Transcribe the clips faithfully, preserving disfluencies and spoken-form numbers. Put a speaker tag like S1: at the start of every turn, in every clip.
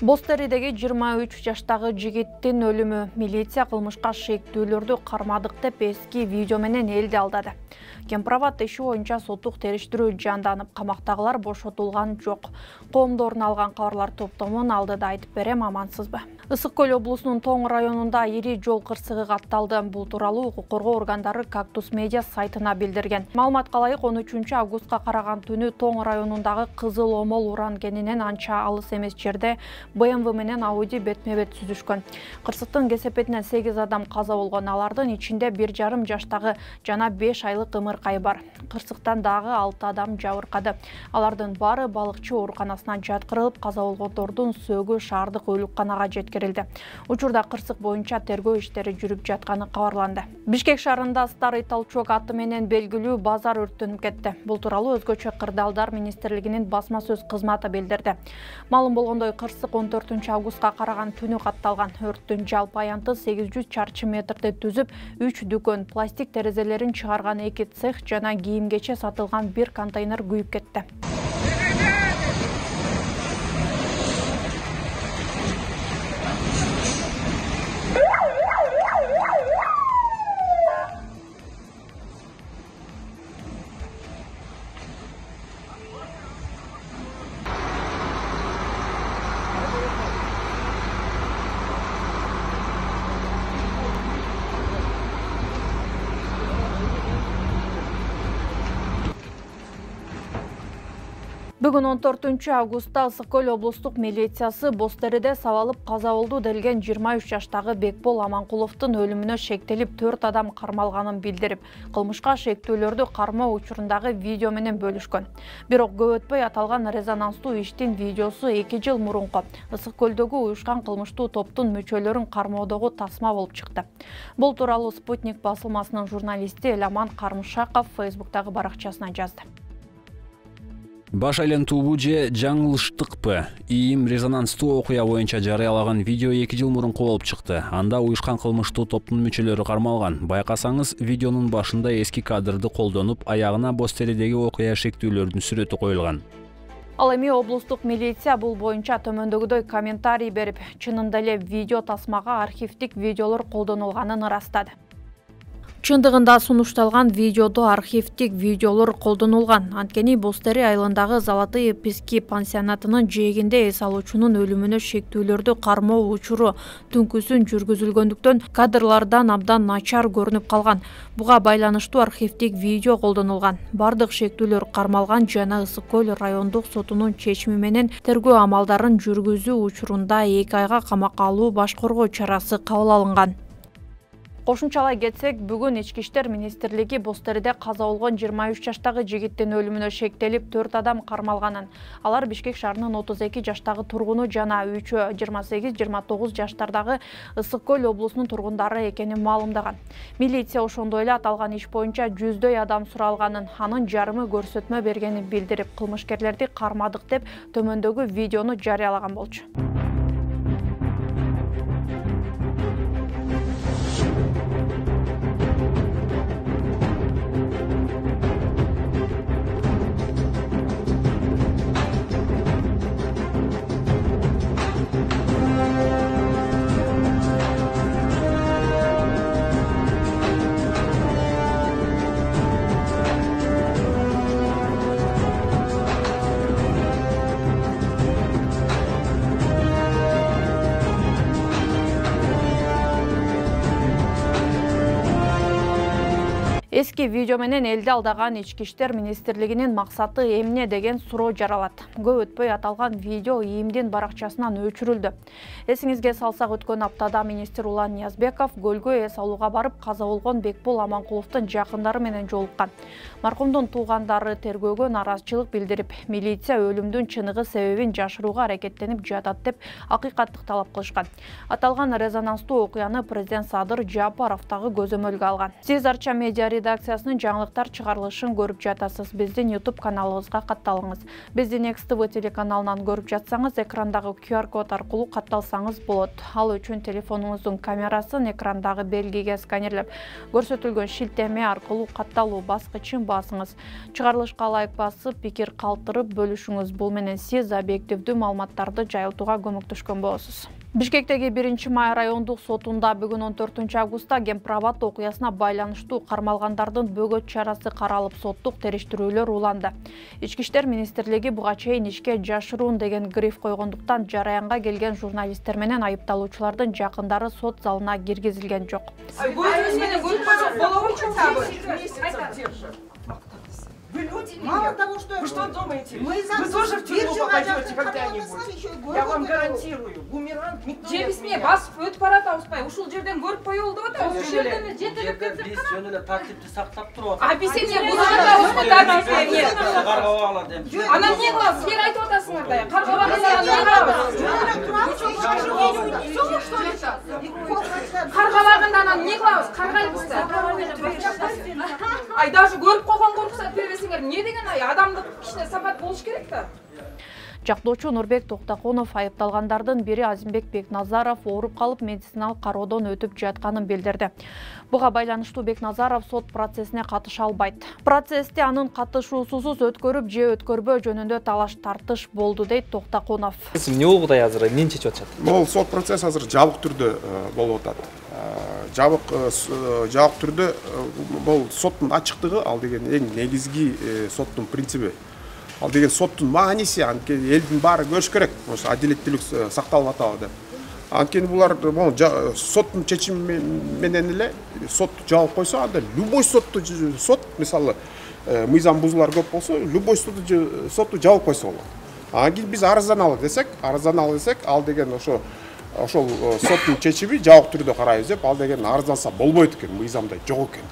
S1: Бостеридеги жыйырма үч жаштагы жигиттин өлүмү. Милиция кылмышка шектүүлөрдү кармадык деп эски видео менен элди алдады. Кемпирабад иши боюнча соттук териштирүү жанданып, камактагылар бошотулган жок. Коомдордун алган кабарлар топтомун алдыда айтып берем, амансызбы? Ысык Көл облусунун Тоң районунда ири жол кырсыгы катталды. Бул тууралуу укук коргоо органдары Кактус медиа сайтына билдирген. Маалыматка ылайык, он үчүнчү августка караган түнү Тоң районундагы Кызыл Омол Уран кенинен анча алыс эмес жерде бэ эм вэ менен Ауди бетме-бет сүзүшкөн. Кырсыктын кесепетинен сегиз адам каза болгон. Алардын ичинде бир жарым жаштагы жана беш айлык ымыркай бар. Кырсыктан дагы алты адам жабыркады. Алардын баары балыкчы ооруканасына жаткырылып, каза болгондордун сөөгү шаардык өлүкканага жеткирилди. Учурда кырсык боюнча тергөө иштери жүрүп жатканы кабарланды. Бишкек шаарында Старый Толчок аты менен белгилүү базар өрттөнүп кетти. Бул тууралуу Өзгөчө кырдаалдар министрлигинин басма сөз кызматы билдирди. Маалым болгондой, кырсык он төртүнчү августка караган түнү катталган. Өрттүн жалпы аянты сегиз жүз чарчы метрди түзүп, үч дүкөн, пластик терезелерин чыгарган эки цех жана кийим-кече сатылган бир контейнер күйүп кетти. Бүгүн он төртүнчү августта Ысык Көл облустук милициясы Бостериде сабалып каза болду делген жыйырма үч жаштагы Бекбол Аманкуловдун өлүмүнө шектелип төрт адам кармалганын билдирип, кылмышка шектүүлөрдү кармоо учурундагы видео менен бөлүшкөн. Бирок көп өтпөй аталган резонанстуу иштин видеосу эки жыл мурунку Ысык Көлдөгү уюшкан кылмыштуу топтун мүчөлөрүн кармоодогу тасма болуп чыкты. Бул тууралуу Спутник басылмасынын журналисти Эламан Кармышаков Фейсбуктагы баракчасына жазды.
S2: Баш айлантуубу же жаңылыштыкпы? ИИМ резонанстуу окуя боюнча жарыялаган видео эки жыл мурунку болуп чыкты. Анда уюшкан кылмыштуу топтун мүчөлөрү кармалган. Байкасаңыз, видеонун башында эски кадрды колдонуп, аягына Бостеридеги окуя шектүүлөрдүн сүрөтү коюлган.
S1: Ал эми облустук милиция бул боюнча төмөндөгүдөй комментарий берип, чынында эле видео тасмага архивдик видеолор колдонулганын ырастады. Чындыгында сунушталган видеодо архивдик видеолор колдонулган. Анткени Бостери айылындагы Золотые Пески пансионатынын жээгинде эс алуучунун өлүмүнө шектүүлөрдү кармоо учуру түнкүсүн жүргүзүлгөндүктөн кадрлардан абдан начар көрүнүп калган. Буга байланыштуу архивдик видео колдонулган. Бардык шектүүлөр кармалган жана Ысык Көл райондук сотунун чечими менен тергөө амалдарын жүргүзүү учурунда эки айга камакка алуу баш коргоо чарасы кабыл алынган. Кошумчалай кетсек, бүгүн Ички иштер министрлиги Бостериде каза болгон жыйырма үч жаштагы жигиттин өлүмүнө шектелип төрт адам кармалганын. Алар Бишкек шаарынын отуз эки жаштагы тургуну жана үчөө жыйырма сегиз жыйырма тогуз жаштардагы Ысык Көл облусунун тургундары экенин маалымдаган. Милиция ошондой эле аталган иш боюнча жүздөй адам суралганын, анын жарымы көрсөтмө бергенин билдирип, кылмышкерлерди кармадык деп төмөндөгү видеону жарыялаган болчу. Эски видео менен элди алдаган Ички иштер министрлигинин максаты эмне деген суроо жаралат. Көп өтпөй аталган видео ИИМдин баракчасынан өчүрүлдү. Эсиңизге салсак, өткөн аптада министр Улан Ниязбеков көлгө эс алууга барып каза болгон Бекбол Аманкуловдун жакындары менен жолуккан. Маркумдун туугандары тергөөгө нааразычылык билдирип, милиция өлүмдүн чыныгы себебин жашырууга аракеттенип жатат деп акыйкаттык талап кылышкан. Аталган резонанстуу окуяны президент Садыр Жапаров дагы көзөмөлгө алган. Сиз Арча медиа редакциясынын жаңылыктар чыгарылышын көрүп жатасыз. Биздин YouTube каналыбызга катталыңыз. Бизди Next ти ви телеканалынан көрүп жатсаңыз, экрандагы ку ар код аркылуу катталсаңыз болот. Ал үчүн телефонуңуздун камерасын экрандагы белгиге сканерлеп, көрсөтүлгөн шилтеме аркылуу катталуу баскычын басыңыз. Чыгарылышка лайк басып, пикир калтырып бөлүшүңүз. Бул менен сиз объективдүү маалыматтарды жайылтууга көмөктөшкөн болосуз. Бишкектеги биринчи май райондук сотунда бүгүн он төртүнчү августта Кемпирабад окуясына байланыштуу кармалгандардын бөгөт чарасы каралып, соттук териштирүүлөр уланды. Ички иштер министрлиги буга чейин ишке жашыруун деген гриф койгондуктан жараянга келген журналисттер менен айыпталуучулардын жакындары сот залына киргизилген жок.
S3: Мало того, что
S4: вы что думаете?
S3: Мы
S4: вы тоже в тюрьму попадете когда-нибудь. Я вам гарантирую. Бумеранг никто не отменяет.
S5: Бас өтүп барат ауспай. Ушул жерден көрүп коюлду деп атабыз. Ушул жерден жетелеп кетсек
S4: биз жөн эле тартипти сактап туруп
S5: атабыз. А биз эмне бузгандабыз го тартипти?
S4: Каргап алат эми.
S5: Анан эмне кылабыз? Силер айтып атасыңар да. Каргап алгандан Каргабаганда анан эмне кылабыз? Каргайлыбыз да. Ай даже көрүп койгонго уруксат бербесеңер, эмне деген ай адамдык кичине сапат болуш керек да.
S1: Жактоочу Нурбек Токтокунов айыпталгандардын бири Азимбек Бекназаров ооруп калып медициналык кароодон өтүп жатканын билдирди. Буга байланыштуу Бекназаров сот процессине катыша албайт. Процессти анын катышуусусуз өткөрүп же өткөрбөө жөнүндө талаш тартыш болду дейт Токтокунов.
S6: Эмне болгудай азыр эмнени чечип атышат?
S7: Бул сот процесс азыр жабык түрдө болуп атат. Жабык жабык түрдө бул соттун ачыктыгы ал деген эң негизги соттун принциби. Ал деген соттун мааниси, анткени элдин баары көрүш керек, ошо адилеттүүлүк сакталып атабы деп. Анткени булар соттун чечими менен эле сотту жабып койсо, анда любой сотту сот, мисалы, мыйзам бузуулар көп болсо, любой сотту сотту жабып койсо болот. Анан кийин биз арызданалы десек, арызданалы десек, ал деген ошо ошол соттун чечими жабык түрдө карайбыз деп, ал деген арызданса болбойт экен, мыйзамда жок экен.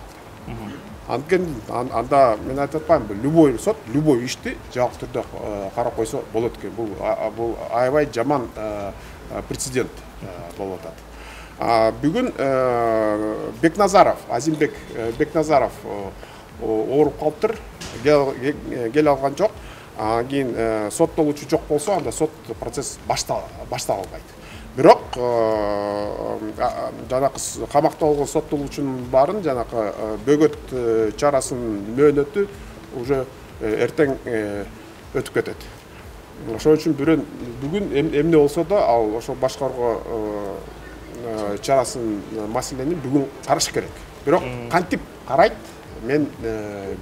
S7: Анткени анда мен айтып атпаймынбы, любой сот любой ишти жабык түрдө карап койсо болот экен. Бул бул аябай жаман прецедент болуп атат. Бүгүн Бекназаров, Азимбек Бекназаров ооруп калыптыр, келе алган жок. Анан кийин соттолуучу жок болсо, анда сот процесс баштала албайт. Бирок жанакы камакта болгон соттолуучунун баарын жанакы бөгөт чарасынын мөөнөтү уже эртең өтүп кетет. Ошон үчүн бүгүн эмне болсо да ал ошо башкаруу чарасын маселени бүгүн караш керек. Бирок кантип карайт мен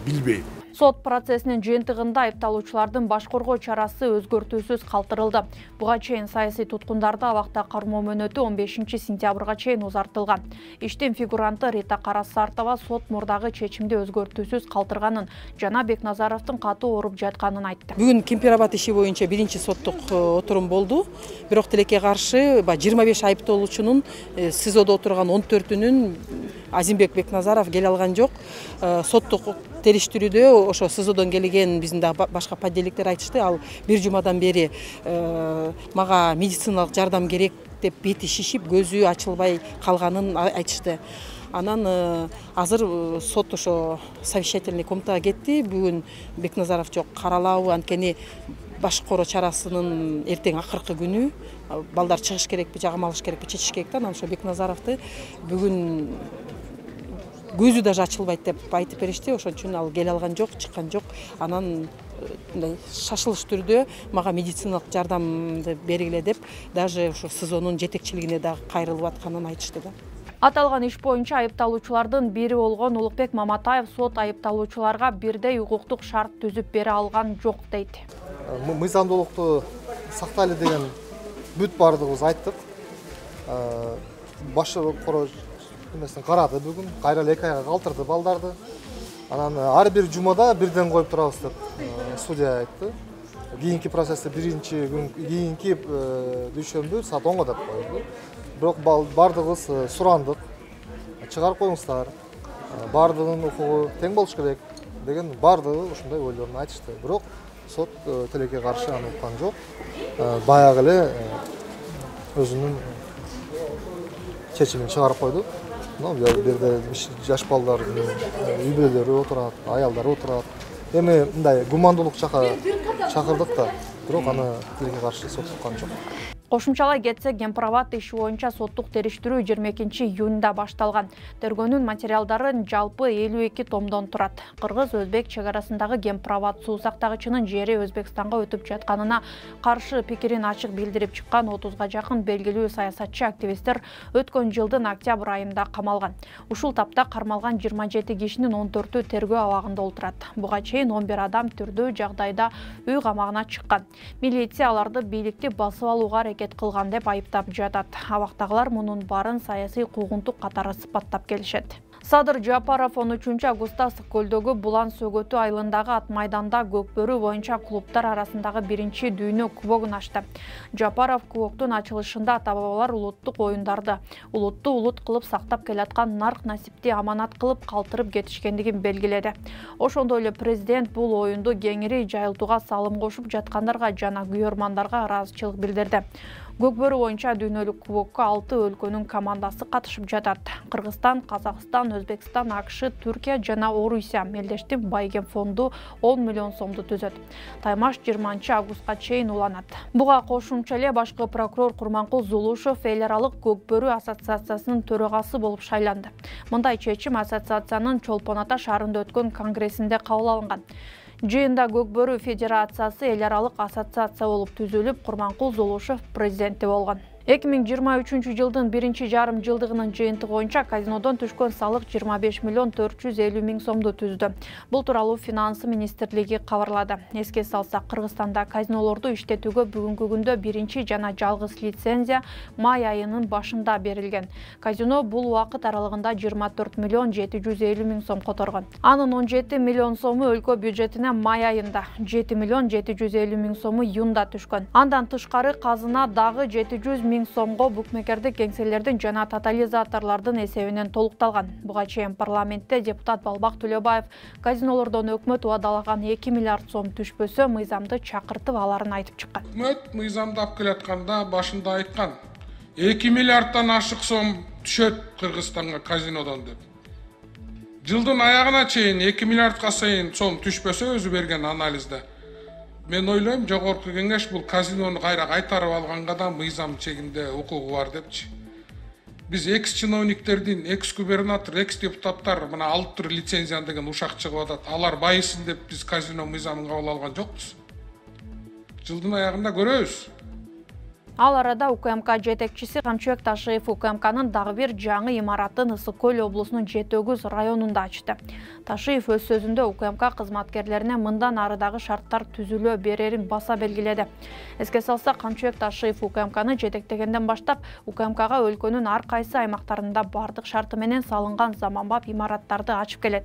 S7: билбейм.
S1: Сот процессинин жыйынтыгында айыпталуучулардын башкаруу чарасы өзгөртүүсүз калтырылды. Буга чейин саясий туткундарды абакта кармоо мөөнөтү он бешинчи сентябрга чейин узартылган. Иштин фигуранты Рита Карасартова сот мурдагы чечимди өзгөртүүсүз калтырганын жана Бекназаровдун катуу ооруп жатканын айтты.
S8: Бүгүн Кемпирабад иши боюнча биринчи соттук отурум болду. Бирок тилекке каршы жыйырма беш айыпталуучунун СИЗОдо отурган он төртүнүн Азимбек Бекназаров келе алган жок. Соттук териштирүүдө ошо СИЗОдон келген биздин дагы башка подельниктер айтышты, ал бир жумадан бери мага медициналык жардам керек деп бети шишип, көзү ачылбай калганын айтышты. Анан азыр сот ошо совещательный комнатага кетти. Бүгүн Бекназаров жок, каралабы, анткени башкаруу чарасынын эртең акыркы күнү. Балдар чыгыш керекпи, жагым алыш керекпи, чечиш керек да. Анан ошо Бекназаровду бүгүн көзү даже ачылбайт деп айтып беришти. Ошон үчүн ал келе алган жок, чыккан жок. Анан мындай шашылыш түрдө мага медициналык жардамды бергиле деп даже ошо СИЗОнун жетекчилигине дагы кайрылып атканын айтышты да.
S1: Аталган иш боюнча айыпталуучулардын бири болгон Улукбек Маматаев сот айыпталуучуларга бирдей укуктук шарт түзүп бере алган жок дейт.
S9: Мыйзамдуулукту сактайлы деген бүт бардыгыбыз айттык. Башкаруу эмесин карады бүгүн, кайра эле эки айга калтырды балдарды. Анан ар бир жумада бирден коюп турабыз деп судья айтты. Кийинки процессти биринчи күн кийинки дүйшөмбү саат онго деп койду. Бирок бардыгыбыз сурандык. Чыгарып коюңуздар. Бардыгынын укугу тең болуш керек деген бардыгы ушундай ойлорун айтышты. Бирок сот тилекке каршы аны уккан жок. Баягы эле өзүнүн чечимин чыгарып койду. бул жерде жаш балдардын үй бүлөлөрү отурат, аялдар отурат. Эми мындай гумандуулук чакырдык да, бирок аны тилге каршы сот чыккан жок.
S1: Кошумчалай кетсек, Гемпроват иши боюнча соттук териштирүү жыйырма экинчи июнда башталган. Тергөөнүн материалдары жалпы элүү эки томдон турат. Кыргыз-өзбек чек арасындагы Гемпроват суу сактагычынын жери Өзбекстанга өтүп жатканына каршы пикирин ачык билдирип чыккан отузга жакын белгилүү саясатчы активисттер өткөн жылдын октябрь айында камалган. Ушул тапта кармалган жыйырма жети кишинин он төртү тергөө абагында отурат. Буга чейин он бир адам түрдүү жагдайда үй камагына чыккан. Милиция аларды бийликти басып алууга аракет кылган деп айыптап жатат. Абактагылар мунун баарын саясий куугунтук катары сыпаттап келишет. Садыр Жапаров он үчүнчү августта Ысык көлдөгү Булан Сөгөтү айылындагы ат майданда көкбөрү боюнча клубтар арасындагы биринчи дүйнө кубогун ачты. Жапаров кубоктун ачылышында ата-бабалар улуттук оюндарды улутту улут кылып сактап келаткан нарк насипти аманат кылып калтырып кетишкендигин белгиледи. Ошондой эле президент бул оюнду кеңири жайылтууга салым кошуп жаткандарга жана күйөрмандарга ыраазычылык билдирди. Көкбөрү боюнча дүйнөлүк кубокко алты өлкөнүн командасы катышып жатат. Кыргызстан, Казакстан, Өзбекстан, АКШ, Түркия жана Орусия мелдештин байген фонду он миллион сомду түзөт. Таймаш жыйырманчы августка чейин уланат. Буга кошумча эле башкы прокурор Курманкул Зулушев эл аралык Көкбөрү ассоциациясынын төрагасы болуп шайланды. Мындай чечим ассоциациянын Чолпон Ата шаарында өткөн конгрессинде кабыл алынган. Жыйында Көкбөрү федерациясы эл аралык ассоциация болуп түзүлүп, Курманкул Зулушев президенти болгон. эки миң жыйырма үчүнчү жылдын биринчи жарым жылдыгынын жыйынтыгы боюнча казинодон түшкөн салык жыйырма беш миллион төрт жүз элүү миң сомду түздү. Бул тууралуу Финансы министрлиги кабарлады. Эске салсак, Кыргызстанда казинолорду иштетүүгө бүгүнкү күндө биринчи жана жалгыз лицензия май айынын башында берилген. Казино бул убакыт аралыгында жыйырма төрт миллион жети жүз элүү миң сом которгон. Анын он жети миллион сому өлкө бюджетине май айында, жети миллион жети жүз элүү миң сому июнда түшкөн. Андан тышкары казына дагы жети жүз миң сомго букмекердик кеңселердин жана тотализаторлордун эсебинен толукталган. Буга чейин парламентте депутат Балбак Төлөбаев казинолордон өкмөт убадалаган эки миллиард сом түшпөсө мыйзамды чакыртып аларын айтып чыккан.
S10: Өкмөт мыйзамды алып келатканда башында айткан эки миллиарддан ашык сом түшөт Кыргызстанга казинодон деп. Жылдын аягына чейин эки миллиардга сайын сом түшпөсө өзү берген анализде. Мен ойлойм, жогорку кеңеш бул казинону кайра кайтарып алганга да мыйзам чегинде укугу бар депчи. Биз экс чиновниктердин, экс губернатор, экс депутаттар мына алып тур лицензиян деген ушак чыгып атат. Алар байысын деп биз казино мыйзамын кабыл алган жокпуз. Жылдын аягында көрөбүз.
S1: Ал арада УКМК жетекчиси Камчыбек Ташиев УКМКнын дагы бир жаңы имаратын Ысык көл облусунун Жети Өгүз районунда ачты. Ташиев өз сөзүндө УКМК кызматкерлерине мындан арыдагы шарттар түзүлө берерин баса белгиледи. Эске салсак, Камчыбек Ташиев УКМКны жетектегенден баштап УКМКга өлкөнүн ар кайсы аймактарында бардык шарты менен салынган заманбап имараттарды ачып келет.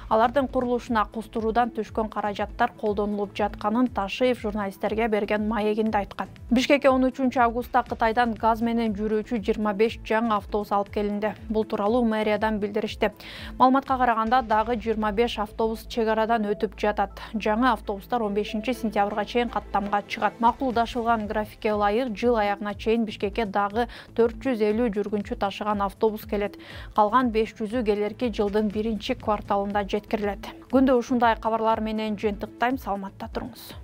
S1: Алардын курулушуна кустуруудан түшкөн каражаттар колдонулуп жатканын Ташиев журналисттерге берген маегинде айткан. Бишкекке он үчүнчү августта Кытайдан газ менен жүрүүчү жыйырма беш жаңы автобус алып келинди. Бул тууралуу мэриядан билдиришти. Маалыматка караганда дагы жыйырма беш автобус чек арадан өтүп жатат. Жаңы автобустар он бешинчи сентябрга чейин каттамга чыгат. Макулдашылган графикке ылайык жыл аягына чейин Бишкекке дагы төрт жүз элүү жүргүнчү ташыган автобус келет. Калган беш жүзү келерки жылдын биринчи кварталында жеткирилет. Күндө ушундай кабарлар менен жыйынтыктайм, саламатта туруңуз.